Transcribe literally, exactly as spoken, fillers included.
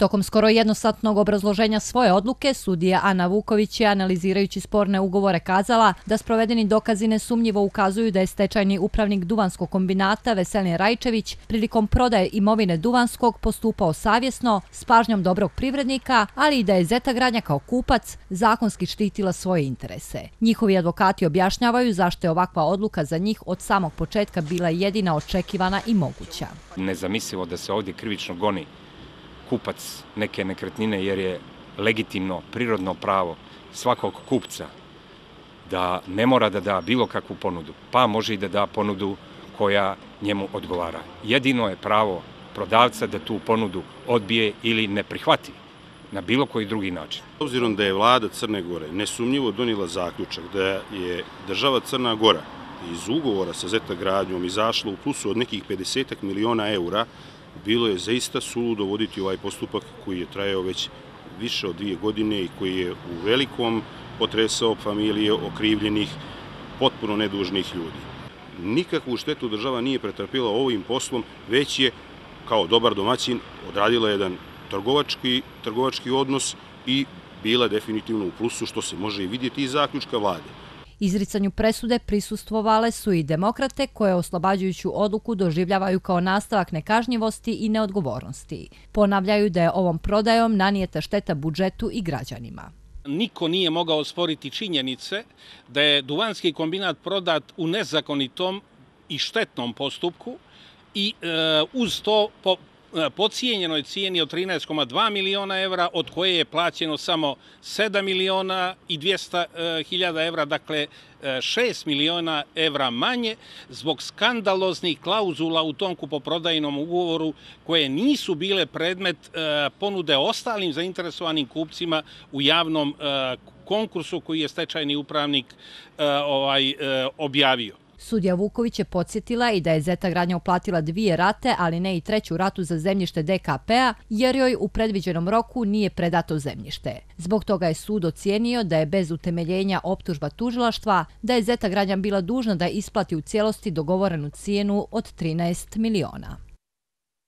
Tokom skoro jednosatnog obrazloženja svoje odluke, sudija Ana Vuković je, analizirajući sporne ugovore, kazala da sprovedeni dokazi nesumnjivo ukazuju da je stečajni upravnik Duvanskog kombinata Veselin Rajčević prilikom prodaje imovine Duvanskog postupao savjesno, s pažnjom dobrog privrednika, ali i da je Zeta Gradnja kao kupac zakonski štitila svoje interese. Njihovi advokati objašnjavaju zašto je ovakva odluka za njih od samog početka bila jedina očekivana i moguća. Nezamislivo da se ovdje krivično goni kupac neke nekretnine, jer je legitimno, prirodno pravo svakog kupca da ne mora da da bilo kakvu ponudu, pa može i da da ponudu koja njemu odgovara. Jedino je pravo prodavca da tu ponudu odbije ili ne prihvati na bilo koji drugi način. Obzirom da je vlada Crne Gore nesumnjivo donijela zaključak da je država Crna Gora iz ugovora sa Zeta Gradnjom izašla u plusu od nekih pedeset miliona eura, bilo je zaista suludo voditi ovaj postupak koji je trajao već više od dvije godine i koji je u velikom potresao familije okrivljenih, potpuno nedužnih ljudi. Nikakvu štetu država nije pretrpila ovim poslom, već je kao dobar domaćin odradila jedan trgovački, trgovački odnos i bila definitivno u plusu, što se može i vidjeti iz zaključka vlade. Izricanju presude prisustvovale su i demokrate koje oslobađajuću odluku doživljavaju kao nastavak nekažnjivosti i neodgovornosti. Ponavljaju da je ovom prodajom nanijeta šteta budžetu i građanima. Niko nije mogao osporiti činjenice da je Duvanski kombinat prodat u nezakonitom i štetnom postupku i e, uz to po podcijenjenoj cijeni od trinaest zarez dva miliona evra, od koje je plaćeno samo sedam miliona i dvjesto hiljada evra, dakle šest miliona evra manje, zbog skandaloznih klauzula u tom kupoprodajnom ugovoru koje nisu bile predmet ponude ostalim zainteresovanim kupcima u javnom konkursu koji je stečajni upravnik ovaj, objavio. Sudija Vuković je podsjetila i da je Zeta Gradnja uplatila dvije rate, ali ne i treću ratu za zemljište D K P-a, jer joj u predviđenom roku nije predato zemljište. Zbog toga je sud ocijenio da je bez utemeljenja optužba tužilaštva, da je Zeta Gradnja bila dužna da isplati u cijelosti dogovorenu cijenu od trinaest miliona.